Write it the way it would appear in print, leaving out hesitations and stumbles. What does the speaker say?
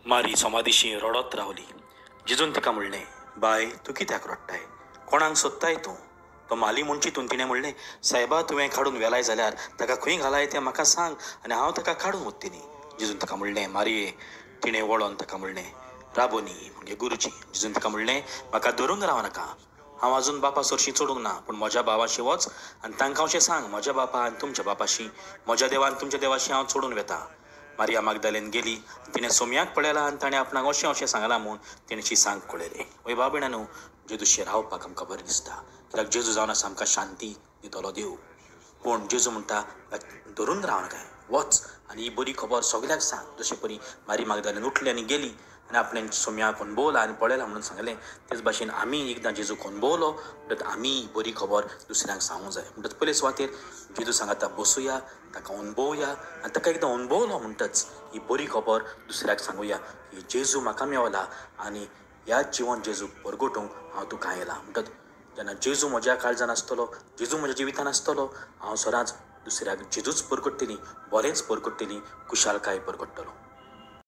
मारी सोमादिशी रडत रावली. जेजून तिका म्हणलें, बाय तूं कित्याक रडटाय? कोणाक सोदताय तूं? तो माली म्हूण चिंतून तिणें म्हणलें, सायबा तुवें काडून व्हेलाय जाल्यार ताका खंय घालाय तें म्हाका सांग आनी हांव ताका काडून वतली. जेजून ताका म्हणलें, मारये. तिणें वळोन ताका म्हणलें, राबोनी म्हणजे गुरुजी. जेजून ताका म्हणलें, म्हाका धरून राव नाका, हांव अजून बापा सरशीं चडूंक ना, पूण म्हज्या भावाशी वच आनी तांकां अशें सांग, म्हज्या बापा आनी तुमच्या बापाशी, म्हज्या देवा आनी तुमच्या देवाशी हांव चडून वेता. मारिया मागदालेन गेली, तिणें सोमयाक पळयला आनी ताणें आपणाक अशें अशें सांगलां म्हूण तिणें शी सांग कळयलें. वय भाव भयणांनो, जेजूशी रावपाक आमकां बरें दिसता, कित्याक जेजू जावन आसा आमकां शांती दितलो देव. पूण जेजू म्हणटा, धरून राव नाका, वच आनी ही बरी खबर सगल्याक सांग. जशें परी मारी मागदालेन उठली आनी गेली आनी आपणें सोमयाक अणभवला आनी पळयला म्हणून सांगलें, तेच भाशेन आमी एकदां जेजूक अणभवलो म्हणटकच आमी बरी खबर दुसऱ्यांक सांगूंक जाय. म्हणटकच पयले सुवातेर जेजू सांगता बसुया, ताका अणभवया आनी ताका एकदां अणभवलो म्हणटच ही बरी खबर दुसऱ्याक सांगुया की जेजू म्हाका मेवला आनी ह्या जिवन जेजूक परगटूंक हांव तुका आयला. म्हणटकच जेन्ना जेजू म्हज्या काळजान आसतलो, जेजू म्हज्या जिवितान आसतलो, हांव सदांच दुसऱ्याक जेजूच परगट्टली, बरेंच परगट्टली, खुशालकाय परगट्टलो.